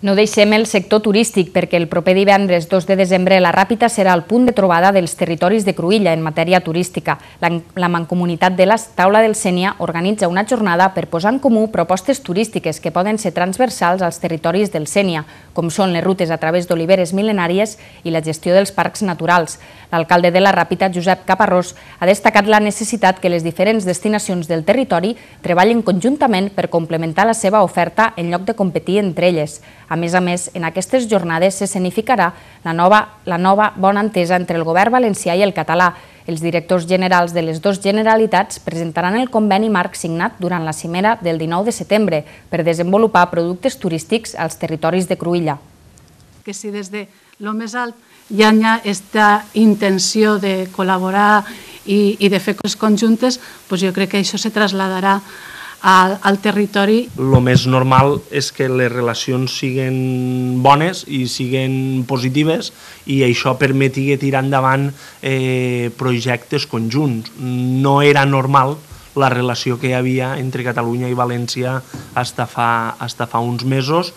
No deixem el sector turístic perquè el proper divendres 2 de desembre la Ràpita serà el punt de trobada dels territoris de Cruïlla en matèria turística. La Mancomunitat de la Taula del Sénia organitza una jornada per posar en comú propostes turístiques que poden ser transversals als territoris del Sénia, com són les rutes a través d'oliveres mil·lenàries i la gestió dels parcs naturals. L'alcalde de la Ràpita, Josep Caparrós, ha destacat la necessitat que les diferents destinacions del territori treballen conjuntament per complementar la seva oferta en lloc de competir entre elles. A més, en aquestes jornades s'escenificarà la nova bona entesa entre el govern valencià i el català. Els directors generals de les dues generalitats presentaran el conveni marc signat durant la cimera del 19 de setembre per desenvolupar productes turístics als territoris de Cruïlla. Que si des de lo més alt hi ha aquesta intenció de col·laborar i de fer coses conjuntes, jo crec que això se traslladarà al territori. El més normal és que les relacions siguin bones i siguin positives i això permeti tirar endavant projectes conjunts. No era normal la relació que hi havia entre Catalunya i València fins fa uns mesos.